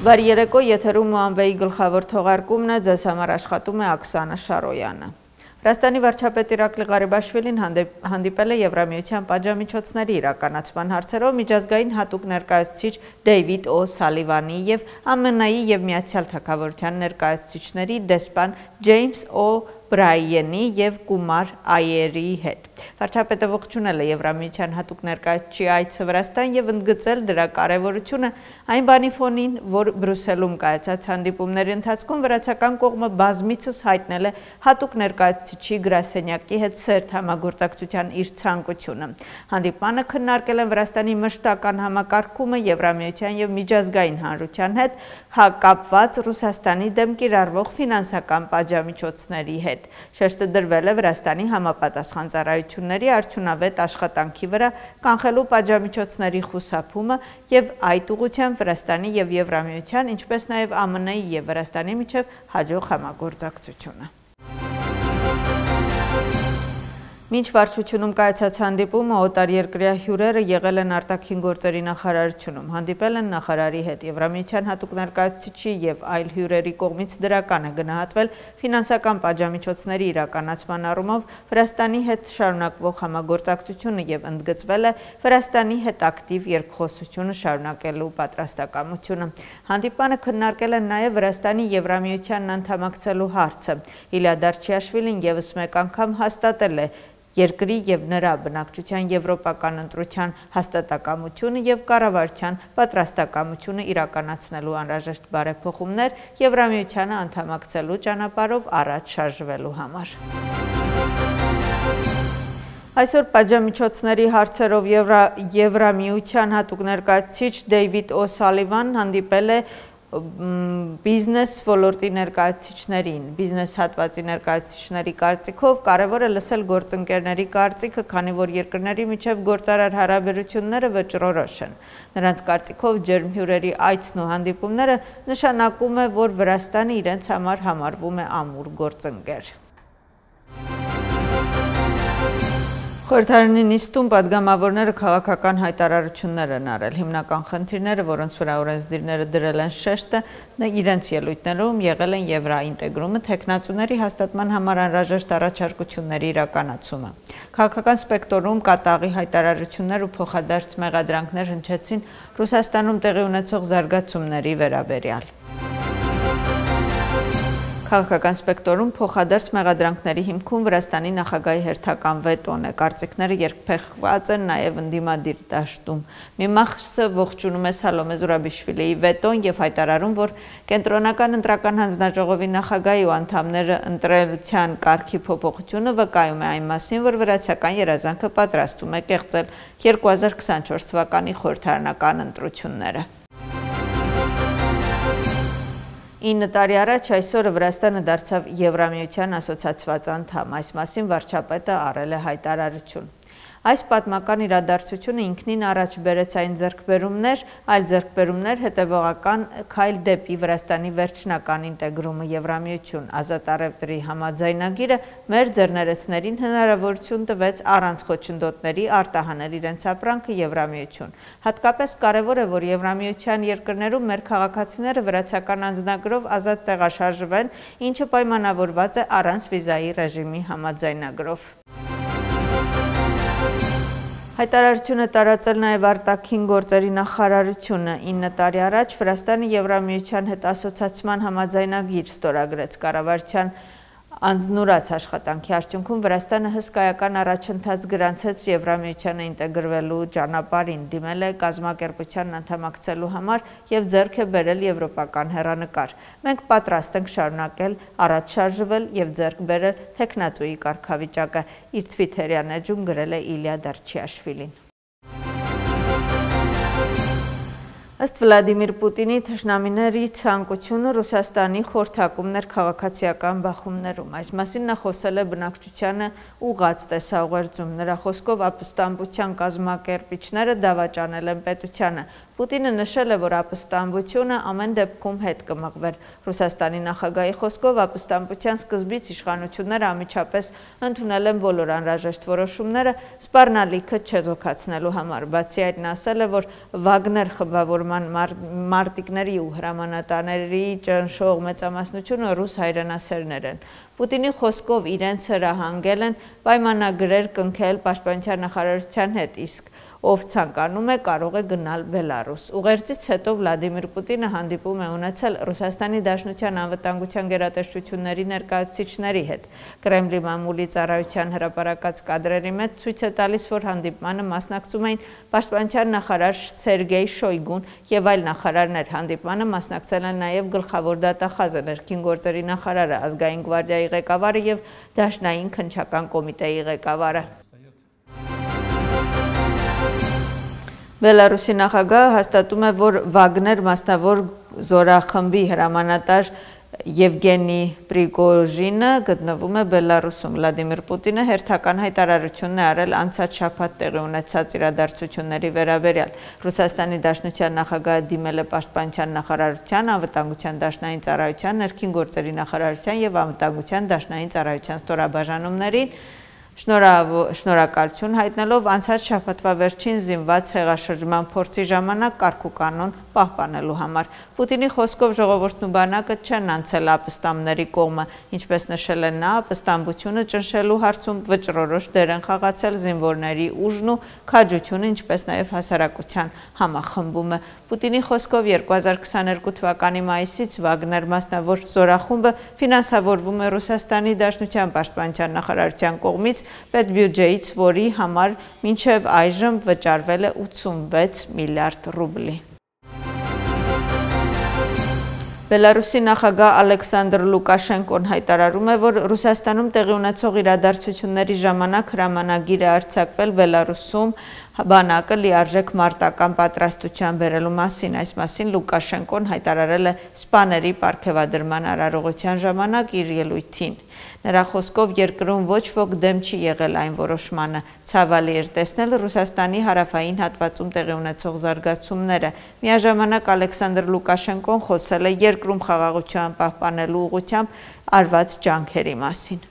Բարի երեկո, եթերում Ամվեի գլխավոր թողարկումն է, ձեզ համար աշխատում է Աքսանա Շարոյանը։ Վրաստանի վարչապետ Իրակլի Ղարիբաշվիլին հանդիպել է Եվրամիության պատժամիջոցների իրականացման հարցերով միջազգային հատուկ ներկայացուցիչ Դեյվիդ Օ'Սալիվանի և ԱՄՆ-ի և Միացյալ Թագավորության ներկայացուցիչների դեսպան Ջեյմս Օ'Բրայենի և Կումար Այերի հետ։ Վարչապետը ողջունել է Եվրամիության հատուկ ներկայացուցչի այցը Վրաստան և ընդգծել դրա կարևորությունը այն բանի ֆոնին, որ Բրյուսելում կայացած հանդիպումների ընթացքում վրացական կողմը բազմիցս հայտնել է հատուկ ներկայացուցիչի գրասենյակի հետ սերտ համագործակցության իր ցանկությունը։ Հանդիպմանը քննարկել են Վրաստանի մշտական համակարգումը Եվրամիության և միջազգային հանրության հետ կապված Ռուսաստանի դեմ կիրառվող ֆինանսական պատժամիջոցների հետ։ Շեշտը դրվել է Վրաստանի համապատասխան ծառայությունների արդյունավետ աշխատանքի վրա, կանխելու պատժամիջոցների խուսափումը և այդ ուղղությամբ Վրաստանի և Եվրամիության, ինչպես նաև ԱՄՆ-ի և Վրաստանի միջև հաջող համագործակցությունը։ Մինչ վարչությունում կայացած հանդիպումը օտարերկրյա հյուրերը եղել են արտաքին գործերի նախարարությունում, հանդիպել են նախարարի հետ, Եվրամիության հատուկ ներկայացուցիչի և այլ հյուրերի կողմից դրական է գնահատվել ֆինանսական պատժամիջոցների իրականացման առումով Վրաստանի հետ շարունակվող համագործակցությունը և ընդգծվել է Վրաստանի հետ ակտիվ երկխոսությունը շարունակելու պատրաստակամությունը։ Հանդիպանը քննարկել են նաև Վրաստանի Եվրամիությանն անդամակցելու հարցը։ Իլիա Դարչիաշվիլին ևս մեկ անգամ հաստատել է երկրի և նրա բնակչության եվրոպական ընտրության հաստատակամությունը և կառավարության պատրաստակամությունը իրականացնելու անհրաժեշտ բարեփոխումներ Եվրամիությանը անդամակցելու ճանապարհով առաջ շարժվելու համար։ Այսօր պատժամիջոցների հարցերով Եվրամիության հատուկ ներկայացուցիչ Դեյվիդ Օ'Սալիվանն հանդիպել է բիզնես ոլորտի ներկայացուցիչներին։ Բիզնես հատվածի ներկայացուցիչների կարծիքով կարևոր է լսել գործընկերների կարծիքը, քանի որ երկրների միջև գործարար հարաբերությունները վճռորոշ են։ Նրանց կարծիքով ջերմ հյուրերի այցն ու հանդիպումները նշանակում է, որ Վրաստանը իրենց համար համարվում է ամուր գործընկեր։ Խորհրդարանի նիստում падգամավորները քաղաքական հայտարարություններ են արել։ Հիմնական խնդիրները, որոնց վրա օրենսդիրները դրել են շեշտը, իրենց ելույթներում եղել են եվրաինտեգրումը, թեկնածուների հաստատման համար անհրաժեշտ առաջարկությունների իրականացումը։ Քաղաքական սպեկտրում կատաղի հայտարարություններ ու փոխադարձ մեղադրանքներ հնչեցին Ռուսաստանում տեղի ունեցող զարգացումների վերաբերյալ։ Քաղաքական սպեկտրում փոխադարձ մեղադրանքների հիմքում Վրաստանի նախագահի հերթական վետոն է։ Կարծիքները երկփեղված են նաև ընդդիմադիր դաշտում։ Մի մասը ողջունում է Սալոմե Զուրաբիշվիլիի վետոն և հայտարարում, որ կենտրոնական ընտրական հանձնաժողովի նախագահի ու անդամները ընտրության կարգի փոփոխությունը վկայում է այն մասին, որ վրացական երազանքը պատրաստվում է կեղծել 2024 թվականի խորհրդարանական ընտրությունները։ 9 տարի առաջ այսօրը Վրաստանը դարձավ Եվրամիության ասոցացված անդամ։ Այս մասին վարչապետը արել է հայտարարություն։ Այս պատմական իրադարձությունը ինքնին առաջ բերեց այն ձեռքբերումներ, այլ ձեռքբերումներ հետևողական քայլ դեպի Վրաստանի վերջնական ինտեգրումը Եվրամիություն։ Ազատ առևտրի համաձայնագիրը մեր ձեռներեցներին հնարավորություն տվեց առանց խոչընդոտների արտահանել իրենց ապրանքը Եվրամիություն։ Հատկապես կարևոր է, որ Եվրամիության երկրներում մեր քաղաքացիները վրացական անձնագրով ազատ տեղաշարժվեն, ինչը պայմանավորված է առանց վիզայի ռեժիմի համաձայնագրով։ Հայտարարություն է տարածել նաև արտաքին գործերի նախարարությունը։ 9 տարի առաջ Վրաստանը Եվրամիության հետ ասոցացման համաձայնագիր ստորագրեց։ Կառավարության անձնուրաց աշխատանքի արդյունքում Վրաստանը հսկայական առաջընթաց գրանցեց Եվրամիությանը ինտեգրվելու ճանապարհին, դիմել է կազմակերպությանն անդամակցելու համար և ձեռք է բերել եվրոպական հեռանկար։ Մենք պատրաստ ենք շարունակել առաջ շարժվել և ձեռք բերել թեկնածուի կարգավիճակը, իր թվիթերյան էջում գրել է Իլիա Դարչիաշվիլին։ Ըստ Վլադիմիր Պուտինի թշնամիների ցանկությունը Ռուսաստանի խորհրդակումներ քաղաքացիական բախումներում։ Այս մասին նա խոսել է բնակչությանը ուղղած տեսաուղերձում։ Նրա խոսքով ապստամբության կազմակերպիչները դավաճանել են պետությանը։ Պուտինը նշել է, որ ապստամբությունը ամեն դեպքում հետ կմղվեր։ Ռուսաստանի նախագահի խոսքով ապստամբության սկզբից իշխանությունները անմիջապես ընդունել են բոլոր անհրաժեշտ որոշումները սպառնալիքը չեզոքացնելու համար։ Բացի այդ, նա ասել է, որ Վագներ խմբավորման մարտիկների ու հրամանատարների ճնշող մեծամասնությունը ռուս հայրենասերներ են։ Պուտինի խոսքով իրենց հրահանգել են պայմանագրեր կնքել պաշտպանության նախարարության հետ, իսկ ով ցանկանում է կարող է գնալ Բելարուս։ Ուղերձից հետո Վլադիմիր Պուտինը հանդիպում է ունեցել Ռուսաստանի Դաշնության անվտանգության գերատեսչությունների ներկայացուցիչների հետ։ Կրեմլի մամուլի ծառայության հրապարակած կադրերի մեջ ցույց է տալիս, որ հանդիպմանը մասնակցում էին պաշտպանության նախարար Սերգեյ Շոյգուն եւ այլ նախարարներ։ Հանդիպմանը մասնակցել են նաեւ գլխավոր դատախազը, ներքին գործերի նախարարը, ազգային գվարդիայի ղեկավարը եւ Դաշնային քննչական կոմիտեի ղեկավարը։ Բելարուսի նախագահը հաստատում է, որ Վագներ մասնավոր զորախմբի հրամանատար Եվգենի Պրիգոժինը գտնվում է Բելարուսում։ Վլադիմիր Պուտինը հերթական հայտարարություն է արել անցած շաբաթ տեղի ունեցած իրադարձությունների վերաբերյալ։ Ռուսաստանի Դաշնության նախագահը դիմել է պաշտպանության նախարարության, անվտանգության դաշնային ծառայության, ներքին գործերի նախարարության եւ անվտանգության դաշնային ծառայության ստորաբաժանումներին շնորհակալություն հայտնելով անցած շաբաթվա վերջին զինված հեղաշրջման փորձի ժամանակ կարգուկանոն պահպանելու համար։ Պուտինի խոսքով ժողովուրդն ու բանակը չեն անցել ապստամբների կողմը, ինչպես նշել է նա, ապստամբությունը ճնշելու հարցում վճռորոշ դեր են խաղացել զինվորների ուժն ու քաջությունը, ինչպես նաև հասարակության համախմբումը։ Պուտինի խոսքով 2022 թվականի մայիսից Վագներ մասնավոր զորախումբը ֆինանսավորվում է Ռուսաստանի Դաշնության պաշտպանության նախարարության կողմից պետբյուջեից, որի համար մինչև այժմ վճարվել է 86 միլիարդ ռուբլի։ Բելարուսի նախագահ Ալեքսանդր Լուկաշենկոն հայտարարում է, որ Ռուսաստանում տեղի ունեցող իրադարձությունների ժամանակ հրամանագիր է արձակվել Բելարուսում բանակը լիարժեք մարտական պատրաստության բերելու մասին։ Այս մասին Լուկաշենկոն հայտարարել է սպաների պարգևադրման արարողության ժամանակ իր ելույթին։ Նրա խոսքով երկրում ոչ ոք դեմ չի եղել այն որոշմանը։ Ցավալի էր տեսնել Ռուսաստանի հարավային հատվածում տեղի ունեցող զարգացումները։ Միաժամանակ Ալեքսանդր Լուկաշենկոն խոսել է երկրում խաղաղության պահպանելու ուղղությամբ արված ջանքերի մասին։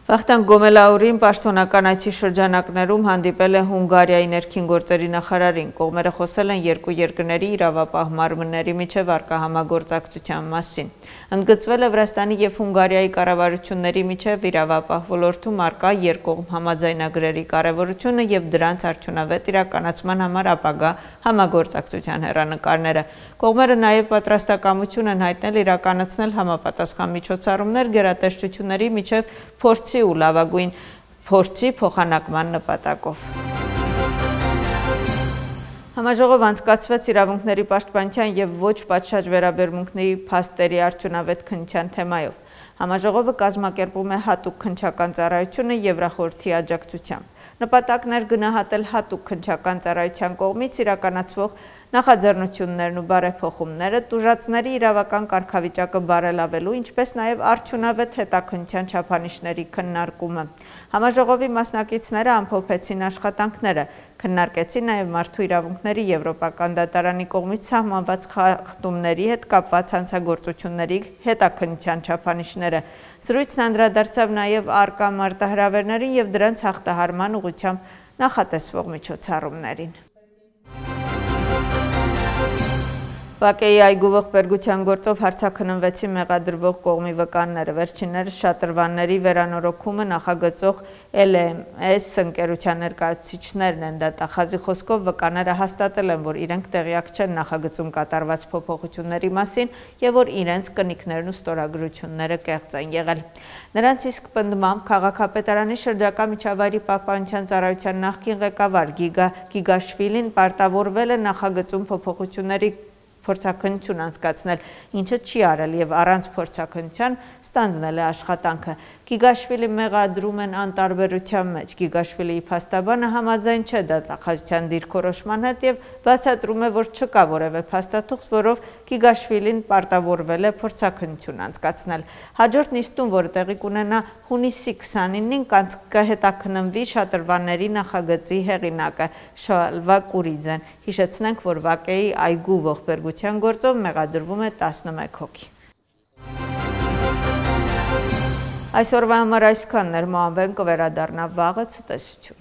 Վախթանգ Գոմելաուրին պաշտոնական այցի շրջանակներում հանդիպել է Հունգարիայի ներքին գործերի նախարարին։ Կողմերը խոսել են երկու երկրների իրավապահ մարմինների միջև առկա համագործակցության մասին։ Ընդգծվել է Վրաստանի եւ Հունգարիայի կառավարությունների միջև իրավապահ ոլորտում առկա երկկողմ համաձայնագրերի կարևորությունը եւ դրանց արդյունավետ իրականացման համար ապագա համագործակցության հեռանկարները։ Կողմերը նաեւ պատրաստակամություն են հայտնել իրականացնել համապատասխան միջոցառումներ գերատեսչությունների միջև փորձի ու լավագույն փորձի փոխանակման նպատակով։ Համաժողով անցկացվեց իրավունքների պաշտպանության եւ ոչ պատշաճ վերաբերմունքների փաստերի արդյունավետ քննության թեմայով։ Համաժողովը կազմակերպում է հատուկ քննչական ծառայությունը Եվրախորհրդի աջակցությամբ։ Նպատակն էր գնահատել հատուկ քննչական ծառայության կողմից իրականացվող նախաձեռնություններն ու բարեփոխումները, տուժածների իրավական կարգավիճակը բարելավելու, ինչպես նաև արդյունավետ հետաքննության չափանիշների քննարկումը։ Համաժողովի մասնակիցները ամփոփեցին աշխատանքները, քննարկեցին նաև մարդու իրավունքների Եվրոպական դատարանի կողմից սահմանված խախտումների հետ կապված հանցագործությունների հետաքննության չափանիշները։ Զրույցն անդրադարձավ նաև առկա մարտահրավերներին եւ դրանց հաղթահարման ուղղությամբ նախատեսվող միջոցառումներին։ Բաքեի այգու ողբերգության գործով հարցաքննվեցին մեղադրվող կողմի վկանները։ Վերջիններս շատրվանների վերանորոգումը նախագծող LMS ընկերության ներկայացուցիչներն են։ Դատախազի խոսքով վկաները հաստատել են, որ իրենք տեղյակ չեն նախագծում կատարված փոփոխությունների մասին եւ որ իրենց կնիքներն ու ստորագրությունները կեղծ են եղել։ Նրանց իսկ պնդմամբ քաղաքապետարանի շրջակա միջավայրի պահպանության ծառայության նախկին ղեկավար Գիգաշվիլին պարտավորվել է նախագծում փոփոխությունների փորձաքննություն անցկացնել, ինչը չի արել եւ առանց փորձաքննության ստանձնել է աշխատանքը։ Գիգաշվիլի մեղադրում են անտարբերության մեջ։ Գիգաշվիլիի փաստաբանը համաձայն չէ դատախազության դիրքորոշման հետ եւ բացատրում է, որ չկա որևէ փաստաթուղթ, որով Գիգաշվիլին պարտավորվել է փորձաքննություն անցկացնել։ Հաջորդ նիստում, որը տեղի կունենա հունիսի 29-ին, կհետաքննվի շատրվանների նախագծի հեղինակը Շալվա Կուրիձեն։ Հիշեցնենք, որ Վակեի այգու ողբերգության գործով մեղադրվում է 11 հոգի։ Այսօրվա համար այսքանն էր, Մոամբեն կվերադառնա վաղը, ցտեսություն։